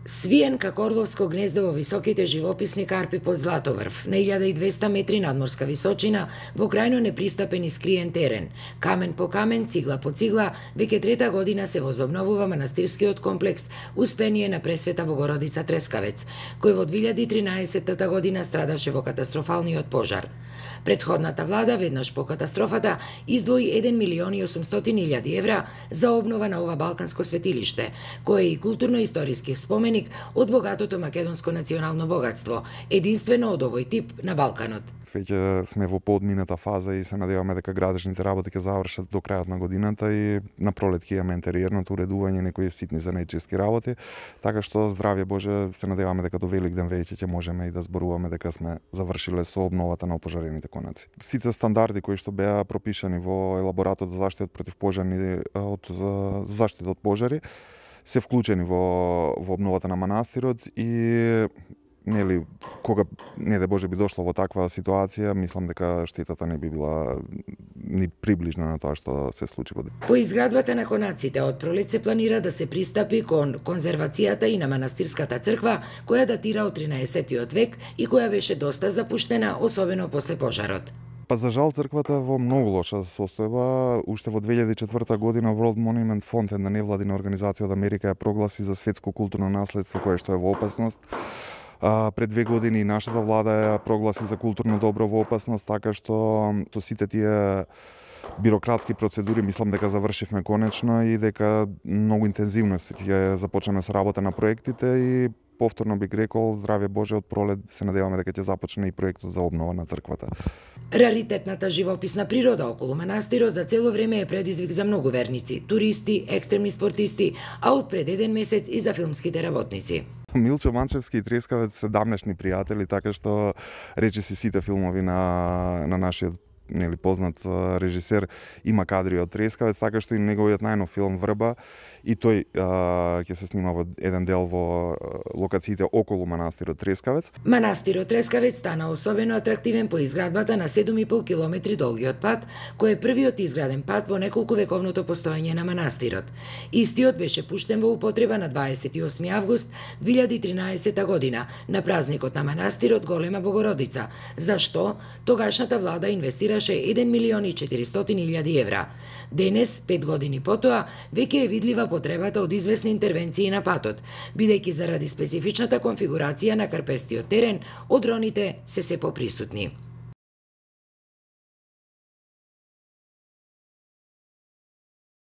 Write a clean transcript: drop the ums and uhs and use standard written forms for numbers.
Свиен како орловско гнездо во високите живописни карпи под Златоврв, на 1200 метри надморска височина, во крајно непристапен и скриен терен. Камен по камен, цигла по цигла, веќе трета година се возобновува манастирскиот комплекс Успение на Пресвета Богородица Трескавец, кој во 2013 година страдаше во катастрофалниот пожар. Предходната влада, веднаш по катастрофата, издвои 1.800.000 евра за обнова на ова балканско светилиште, кое е и културно-историски споменик од богатото македонско национално богатство, единствено од овој тип на Балканот. Веќе сме во подмината фаза и се надеваме дека градежните работи ќе завршат до крајот на годината и на пролет ќе имаме интериерното уредување, некои ситни занечиски работи, така што здравје Боже, се надеваме дека до Великден веќе ќе можеме и да зборуваме дека сме завршиле со обновата на опожарените конаци. Сите стандарди кои што беа пропишани во елаборатот за заштита против пожарни заштита од пожари се вклучени во обновата на манастирот и нели кога не да Боже би дошло во таква ситуација, мислам дека штетата не би била ни приближна на тоа што се случи во. По изградбата на конаците од пролет се планира да се пристапи кон конзервацијата и на манастирската црква, која датира од 13 век и која беше доста запуштена, особено после пожарот. Па за жал црквата во многу лоша состојба. Уште во 2004 година World Monument Fund, една невладина организација од Америка, ја прогласи за светско културно наследство кое што е во опасност. Пред 2 години нашата влада ја прогласи за културно добро во опасност, така што со сите тие бирократски процедури мислам дека завршивме конечно и дека многу интензивно ќе започнеме со работа на проектите и повторно бих рекол, здравје Боже, од пролет се надеваме дека ќе започне и проектот за обнова на црквата. Раритетната живописна природа околу манастирот за цело време е предизвик за многу верници, туристи, екстремни спортисти, а од пред 1 месец и за филмските работници. Милчо Манчевски и Трескавец се давнешни пријатели, така што речиси сите филмови на нашиот познат режисер има кадри од Трескавец, така што и неговиот најнов филм Врба и тој ќе се снима во еден дел во локациите околу манастирот Трескавец. Манастирот Трескавец стана особено атрактивен по изградбата на 7,5 километри долгиот пат, кој е првиот изграден пат во неколку вековното постоење на манастирот. Истиот беше пуштен во употреба на 28 август 2013 година на празникот на манастирот Голема Богородица, за што тогашната влада инвестираше 1.400.000 евра. Денес, 5 години потоа, веќе е видлива потребата од известни интервенции на патот, бидејќи заради специфичната конфигурација на карпестиот терен, одроните се поприсутни.